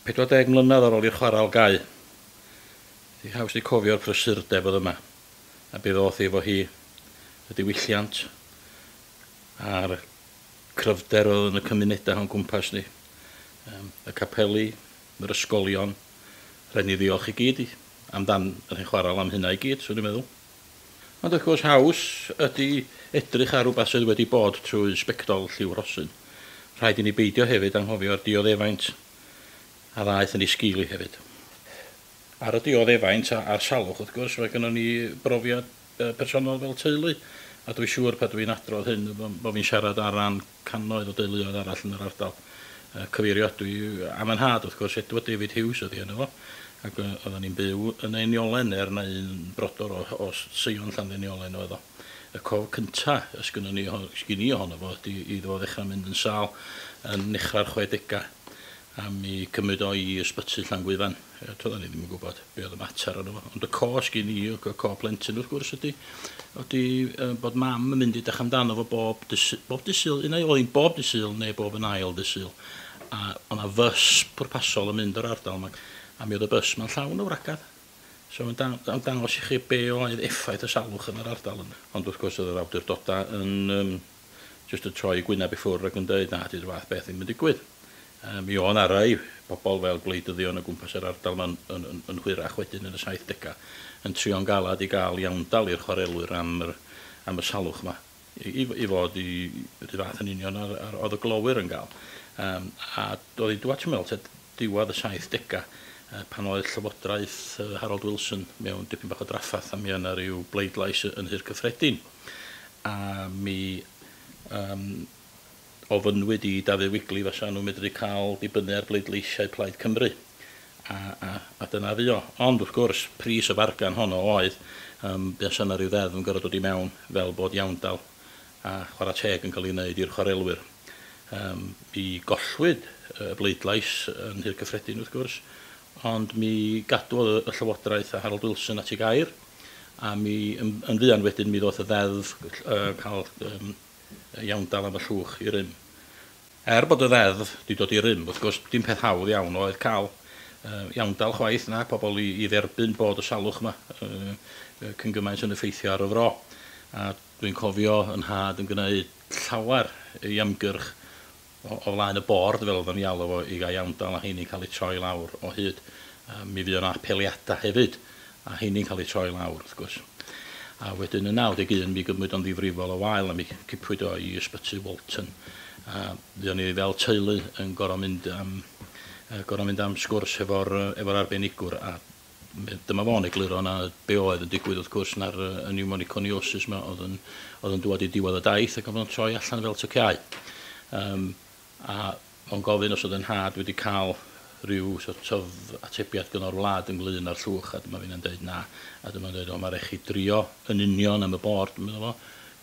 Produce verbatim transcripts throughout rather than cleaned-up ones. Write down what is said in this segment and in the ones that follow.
pedwar deg mlynedd ar ôl i'r chwaral gau. Di haws di cofio'r prysurdeb oedd yma, a be ddoth efo hi y diwylliant a'r cryfder oedd yn y cymunedau o'n gwmpas ni. Um, y capeli, yr ysgolion, rhaid ni ddiolch i gyd i, amdan yr hen chwaral am hynna i gyd, swn i'n meddwl. Ond wrth gwrs haws ydy edrych ar rhywbeth sydd wedi bod trwy sbectol lliw rhosyn. Rhaid i ni beidio hefyd anghofio'r dioddefaint a ddaeth yn ei sgil i hefyd. Ar y dioddefaint a'r salwch, wrth gwrs, mae gennym ni brofiad personol fel teulu, a dwi'n siŵr pan dwi'n adrodd hyn bod fi'n siarad ar ran cannoedd o deuluoedd arall yn yr ardal. Cyfeirio dwi am yn nhad, wrth gwrs, Edward David Hughes oedd enw fo, ac oedden ni'n byw yn Einiolen er na un brodor o, o Seion Llanddeiniolen oedd o. Y cof cynta ysgynnon ni, sgyn i ohono fo ydy iddo fo ddechrau mynd yn sâl yn nechrau'r chwedegau, a mi cymryd o i ysbyty Llangwyfan. Toedden ni ddim yn gwybod be oedd y mater ono fo. Ond y co sgyn i, y co plentyn wrth gwrs ydy, ydy bod mam yn mynd i edrych amdano fo bob bob dydd Sul, un ai oedd hi'n bob dydd Sul neu bob yn ail dydd Sul. A o'na fys pwrpasol yn mynd o'r ardal yma, a mi oedd y bys ma'n llawn o wragedd. So mae'n dang, dangos i chi be oedd effaith y salwch yn yr ardal yna. Ond wrth gwrs oedd yr awdurdodau yn um, just y troi gwyneb i ffwrdd ac yn dweud na, dydy'r fath beth ddim yn digwydd. Um, mi o'n rai bobl fel gwleidyddion o gwmpas yr ardal yma'n yn, yn, yn hwyrach wedyn yn y saithdegau yn trio'n galad i gael iawndal i'r chwarelwyr am, yr, am y salwch yma. I, i, i fod i, i fath yn union ar, ar, oedd y glowyr yn gael. Um, a doedd i dwad, ti'n meddwl, diwedd y saithdegau, pan oedd llywodraeth Harold Wilson mewn dipyn bach o draffath, a mi yna rhyw bleidlais yn Nhŷ'r Cyffredin. A mi um, ofynnwyd i Dafydd Wigley fysa nhw'n medru cael dibynnu ar bleidleisiau Plaid Cymru. A, a, a dyna fu o. Ond wrth gwrs, pris y fargan honno oedd, um, buasa yna rhyw ddeddf yn gorfod dod i mewn fel bod iawndal a chwarae teg yn cael ei wneud i'r chwarelwyr. Um, mi gollwyd y bleidlais yn Nhŷ'r Cyffredin wrth gwrs, ond mi gadwodd y llywodraeth a Harold Wilson at ei gair, a mi yn, yn fuan wedyn mi ddoth y ddeddf uh, cael um, iawndal am y llwch i rym. Er bod y ddeddf wedi dod i rym, wrth gwrs, dim peth hawdd iawn oedd cael uh, iawndal chwaith na pobl i, i dderbyn bod y salwch yma uh, cyn gymaint yn effeithio ar y fro. A dwi'n cofio yn nhad yn gwneud llawer i ymgyrch o, o flaen y bord fel oedden ni alw fo i gael iawndal, a heini'n cael ei troi lawr o hyd. Uh, mi fuodd yna apeliadau hefyd, a heini'n cael ei troi lawr wrth gwrs. A wedyn yn naw deg un mi gymryd o'n ddifrifol o wael a mi cipwyd o i ysbyty Walton. A fuon ni fel teulu yn gorfod mynd am, gorfod mynd am sgwrs efo'r efo'r arbenigwr, a dyma fo'n egluro na be oedd yn digwydd wrth gwrs na'r y pneumoconiosis yma oedd yn, oedd yn dŵad i diwedd y daith ac oedd o'n troi allan fel tociau. Um, a o'n gofyn os oedd yn nhad wedi cael rhyw sort of atebiad gan o'r wlad ynglyn â'r llwch, a dyma fi'n dweud na, a dyma'n dweud, o, mae rhaid chi drio yn union am y bord, meddwl fo,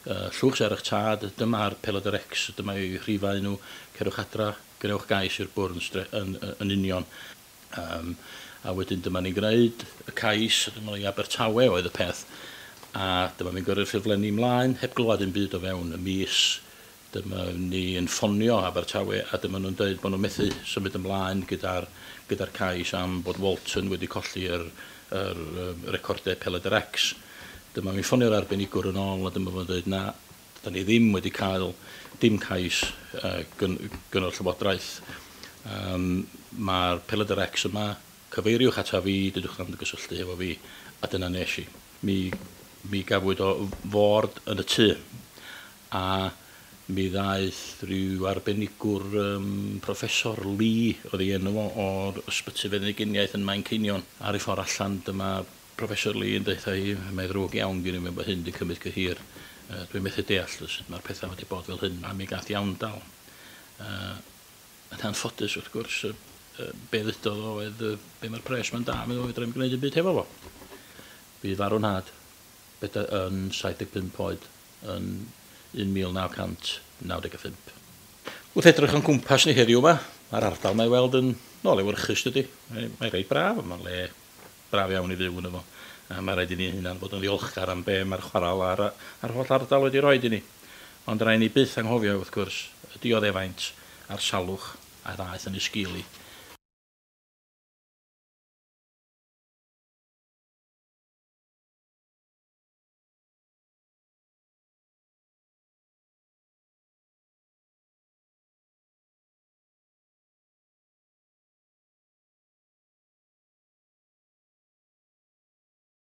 uh, llwch sy ar eich tad, dyma'r pelydr X, dyma eu rhifau nhw, cerwch adra, gwnewch gais i'r bwrdd yn, yn, yn union. Um, a wedyn dyma ni'n gwneud y cais, dyma ni Abertawe oedd y peth, a dyma ni'n gyrru'r ffurflenni ymlaen, heb glywed dim byd o fewn y mis. Dyma ni yn ffonio Abertawe, a dyma nhw'n dweud bod nhw'n methu symud ymlaen gyda'r gyda cais am bod Walton wedi colli yr, yr, yr recordau pelydr X. Dyma mi'n ffonio'r arbenigwr yn ôl, a dyma fo'n dweud na, da ni ddim wedi cael dim cais uh, gyn, gyn o'r llywodraeth. Um, Mae'r pelydr X yma, cyfeiriwch ata fi, dydwch am gysylltu efo fi, a dyna nes i. Mi, mi gafwyd o ford yn y tŷ, a mi ddaeth rhyw arbenigwr um, Professor Lee, oedd ei enw o, o'r ysbyty feddyginiaeth yn Manceinion. Ar ei ffordd allan, dyma Professor Lee yn deutha hi, mae ddrwg iawn gen i mewn bod hyn wedi cymryd cyhir. Uh, dwi'n methu deall sut mae'r pethau wedi bod fel hyn, a mi gath iawndal. Uh, yn anffodus, wrth gwrs, uh, uh, be ddudodd o oedd, uh, be mae'r pres ma'n da, mi fedra i'm gwneud dim byd hefo fo. Fydd farw nhad, beda yn saith deg pump oed, yn un mil naw cant naw deg pump. Wrth edrych o'n cwmpas ni heddiw yma, mae'r ardal mae weld yn nôl lewyrchus dydy. Mae, mae reit braf, mae'n le braf iawn i fyw yn efo. A mae rhaid i ni hunan fod yn ddiolchgar am be mae'r chwaral a'r, a'r holl ardal wedi roed i ni. Ond rhaid ni byth anghofio wrth gwrs y dioddefaint a'r salwch a ddaeth yn ei sgil i.